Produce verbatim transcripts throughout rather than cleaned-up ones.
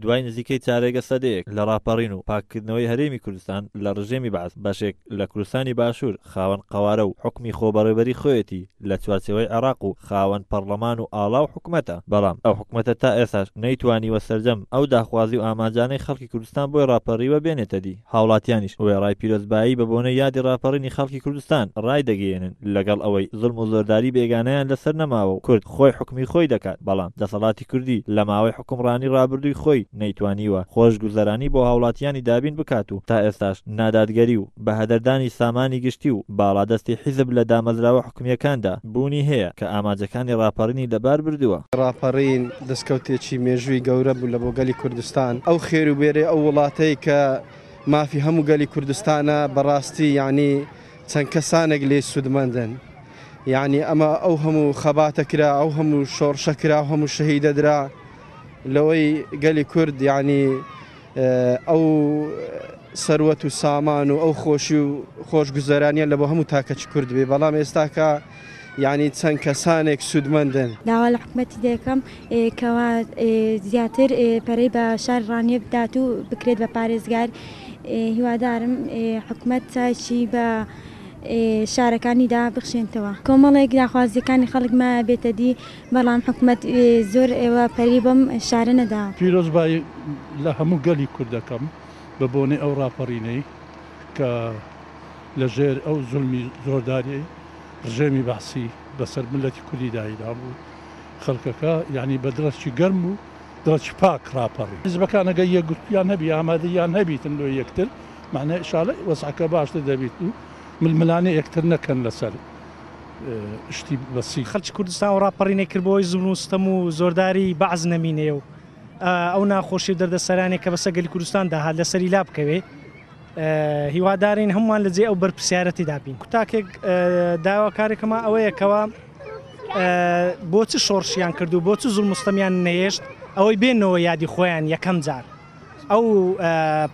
دوای نزیکەی چارەگە سەدەیەک لە ڕاپەڕین و پاککردنەوەی هەرێمی کوردستان لە ڕژێمی بەعس، بەشێک لە کوردستانی باشوور خاوەن قەوارە و حوکمی خۆبەڕێوەبەری خۆیەتی لە چوارچێوەی عێراق و خاوەن پەڕلەمان و ئاڵا و حکومەتە، بەڵام ئەو حکومەتە تا ئێستاش نەیتوانیوە سەرجەم ئەو داخوازی و ئامانجانەی خەڵکی کوردستان بۆی ڕاپەڕیوە بێنێتە دی. هاوڵاتیانیش وێڕای پیرۆزبایی بە بۆنەی یادی ڕاپەڕینی خەڵکی کوردستان ڕایدەگەیەنن لەگەڵ ئەوەی زوڵم و زۆرداری بێگانەیان لەسەر نەماوە و کورد خۆی حوکمی خۆی دەکات، بەڵام دەسەڵاتی کوردی لە ماوەی حوکمڕانی ڕابردووی خۆی نەیتوانیوە خۆشگوزەرانی بۆ هاوڵاتیانی دابین بکات و تا ئێستاش نادادگەری و بەهەدەردانی سامانی گشتی و باڵادەستی حیزب لە دامەزراوە حکومییەکاندا بوونی هەیە کە ئامانجەکانی ڕاپەڕینی لەبار بردووە. ڕاپەڕین دەستکەوتێکی مێژووی گەورە بوو لە بۆ گەلی کوردستان. ئەو خێر و بێرەی ئەو وڵاتەی کە مافی هەموو گەلی کوردستانە بەڕاستی یعنی چەند کەسانێک لێ سوودمەندن. یعنی ئەمە ئەو هەموو خەباتە کرا، ئەو هەموو شۆڕشە کرا، ئەو هەموو شەهیدە درا لەوەی گەلی کورد یعنی ئەو سەروەت و سامان و ئەو خۆشی و خۆشگوزەرانیە لە بۆ هەموو تاکەچی کورد بێ، بەڵام ئێستاکە یعنی چەند کەسانێک سوودمەندن. داوا لە حکومەتی دەکەم کەوا زیاتر پەرەی بە شار ڕانیە بدات و بکرێت بە پارێزگار. هیوادارم حکومەت چاکی بە شارەکانیدا بخشێنتەوە. کۆمەڵێک داخوازیەکانی خەڵک ما بێتە دی، بەڵام حکومەت زۆر ئێوە پەری بەم شارە نەدا. پیرۆزبایی لە هەموو گەلی کورد دەکەم بە بۆنەی ئەو ڕاپەڕینەی کە لەژێر ئەو زولمی زۆرداری ڕژێمی بەعسی بەسەر ملەتی کوردی دایدا بوو، خەڵکەکە یعنی بە دڵێکی گەرم و دڵێکی پاک ڕاپەڕی. حیزبەکان ئەگەر یەکگرتوویان هەبی، ئامادەیان هەبیتن لۆ یەکتر، معنای ئیشاڵە وەزعەکە باشتر دەبیت و ململانێ یەکتر نەکەن لەسەر شتی بەسی. خەڵکی کوردستان و ڕاپەڕینێک کرد بۆی زوڵم و ستەم و زۆرداری بەعس نەمینێ و ئەو ناخۆشی و دەردەسەرانێک کە بەسەر گەلی کوردستان داهات لەسەری لا بکەوێ. هیوادارین هەمووان لە جێ ئەو بەرپرسیارەتی دابین. تاکێک داواکارێکەمە ئەوەیە کەوا بۆ چ شۆڕشیان کرد و بۆ چ زوڵم و ستەمیان نەهێشت ئەوەی بێنەوە یادی خۆیان یەکەم جار. ئەو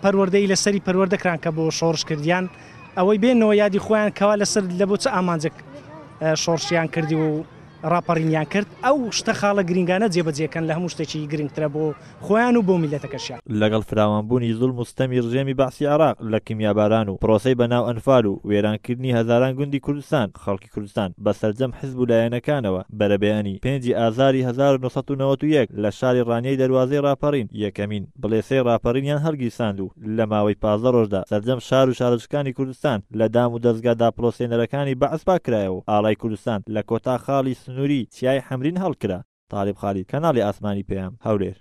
پەروەردەی لەسەری پەروەردەکران کە بۆ شۆڕش کردیان، ئەوەی بێنەوە یادی خۆیان کەوا لەسەر لە بۆ چ ئامانجێک شۆڕشیان کردی و ڕاپەڕینیان کرد، ئەو شتە خاڵە گرنگانە جێبەجێکەن لە هەموو شتێکی گرنگترە بۆ خۆیان و بۆ میلەتەکەشیان. لەگەڵ فراوانبوونی زوڵم و ستەمی ڕژێمی بەعسی عێراق لە کیمیاباران و پرۆسەی بەناو ئەنفال و وێرانکردنی هەزاران گوندی کوردستان، خەڵکی کوردستان بە سەرجەم حزب و لایەنەکانەوە بەرەبەیانی پێنجی ئازاری هەزار و نۆ سەد و نەوەد و یەک لە شاری ڕانیەی دەروازەی ڕاپەڕین یەکەمین بڵێسەی ڕاپەڕینیان هەڵگیرساند و لە ماوەی پازدە ڕۆژدا سەرجەم شار و شارۆچکەکانی کوردستان لە دام و دەزگا داپڵۆسێنەرەکانی بەعس پاکرایەوە و ئاڵای کوردستان لە کۆتا خاڵی سنووری چیای حەمرین هەڵکرا. تالیب خالید، کەناڵی ئاسمانی پەیام، هەولێر.